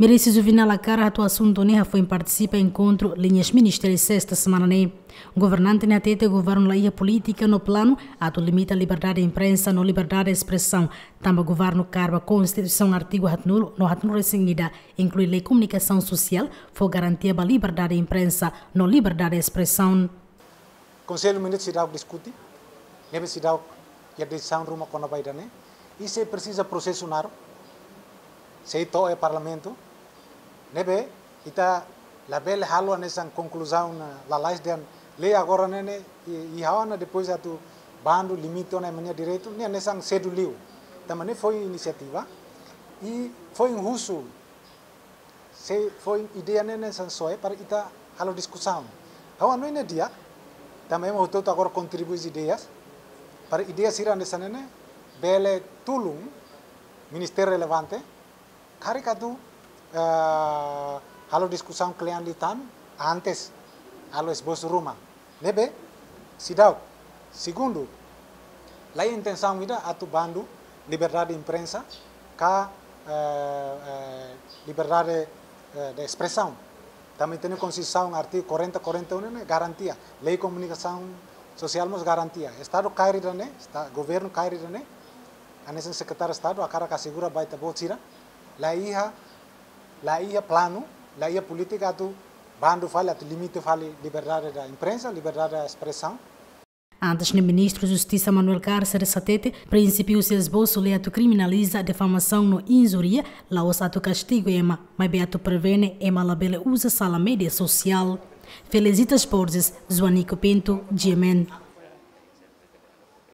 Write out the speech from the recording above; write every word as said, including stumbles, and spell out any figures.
Merisi Juvenal hakarak atu asuntu ne'e hafoin partisipa enkontru liñas ministeriais sesta semana ne'e. Governante ne'e hatete governu la iha polítika no planu atu limita liberdade imprensa no liberdade espresaun, tanba governu kaer ba Konstituisaun artigu haatnulu no haatnulu-resin-ida, inklui lei komunikasaun sosiál, fó garantia ba liberdade imprensa no liberdade espresaun. Konsellu Ministru seidauk diskute, ne'ebé seidauk iha desizaun ruma kona-ba ida-ne'e, i sei presiza prosesu naruk, sei to'o iha Parlamentu, ne'ebé ita labele halo hanesan konkluzaun, eh, lalais dehan lei agora ne'e ne'e, i, i ha'u hanoin depois atu bandu limita ona ema nia direitu, ne'e hanesan sedu liu. Tanba ne'e foin inisiativa, i foin husu, sei foin ideia ne'e hanesan soe para ita halo diskusaun. Ha'u hanoin ne'e di'ak, tanba ema hotu-hotu agora kontribui ideias, para ideia sira hanesan ne'e ne'e bele tulun ministériu relevante, karik atu, eh, halo diskusaun kle'an liután, antes halo esbosu ruma. Ne'ebé seidauk. Segundu, la iha intensaun ida atu bandu liberdade imprensa ka, eh, eh, liberdade, eh, de espresaun. Tanba ita-nia Konstituisaun artigu quarenta, quarenta e um ne'e garantia. Lei komunikasaun sosiál mós garantia. Estadu kaer ida-ne'e, esta-, governu kaer ida-ne'e, hanesan Sekretáriu Estadu hakarak asegura ba ita-boot sira, la iha, la iha planu, la iha polítika atu bandu fali, atu limita fali liberdade da imprensa, liberdade da espresaun. Antes ne'e, Ministru Justisa Manuel Cárceres hatete, prinsípiu husi esbosu lei atu kriminaliza difamasaun no injúria la'ós atu kastigu ema, maibé atu prevene ema labele uza sala média sosiál. Felicitas Borges, Joanico Pinto, G M N.